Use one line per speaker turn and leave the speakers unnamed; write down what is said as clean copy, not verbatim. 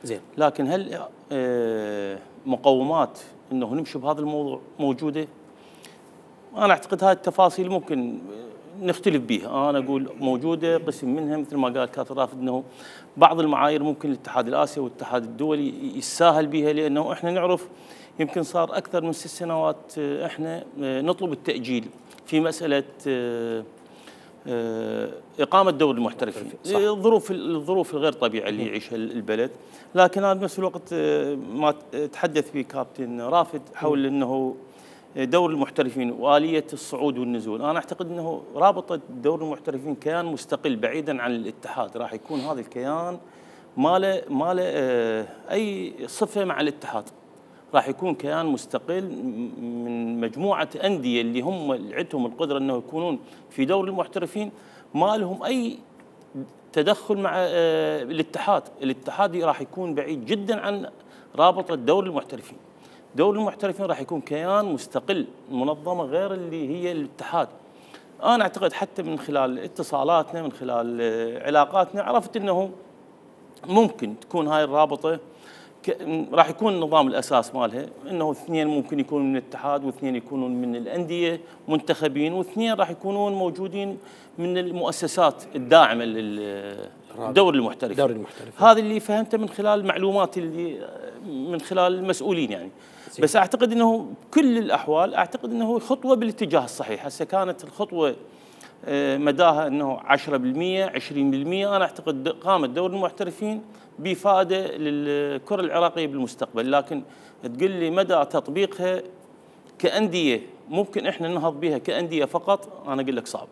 زين.
لكن هل مقومات انه نمشي بهذا الموضوع موجوده؟ انا اعتقد هاي التفاصيل ممكن نختلف بها، انا اقول موجوده قسم منها مثل ما قال كابتن رافد انه بعض المعايير ممكن الاتحاد الاسيوي والاتحاد الدولي يساهل بها، لانه احنا نعرف يمكن صار اكثر من 6 سنوات احنا نطلب التاجيل في مساله اقامه دوري المحترفين، الظروف الغير طبيعيه اللي يعيشها البلد. لكن انا بنفس الوقت ما تحدث به كابتن رافد حول انه دور المحترفين واليه الصعود والنزول، انا اعتقد انه رابطه دور المحترفين كيان مستقل بعيدا عن الاتحاد، راح يكون هذا الكيان ما له اي صفه مع الاتحاد، راح يكون كيان مستقل من مجموعه انديه اللي هم اللي عندهم القدره انه يكونون في دور المحترفين، ما لهم اي تدخل مع الاتحاد، الاتحاد راح يكون بعيد جدا عن رابطه دور المحترفين. دور المحترفين راح يكون كيان مستقل، منظمه غير اللي هي الاتحاد. انا اعتقد حتى من خلال اتصالاتنا، من خلال علاقاتنا، عرفت انه ممكن تكون هاي الرابطه راح يكون النظام الاساس مالها انه 2 ممكن يكونوا من الاتحاد و2 يكونون من الانديه منتخبين، و2 راح يكونون موجودين من المؤسسات الداعمه للدوري المحترفين. هذا اللي فهمته من خلال المعلومات اللي من خلال المسؤولين يعني. بس اعتقد انه بكل الاحوال اعتقد انه خطوه بالاتجاه الصحيح، هسه كانت الخطوه مداها انه 10% 20%، انا اعتقد قامت دوري المحترفين بفائده للكره العراقيه بالمستقبل، لكن تقول لي مدى تطبيقها كانديه ممكن احنا ننهض بها كانديه فقط، انا اقول لك صعب.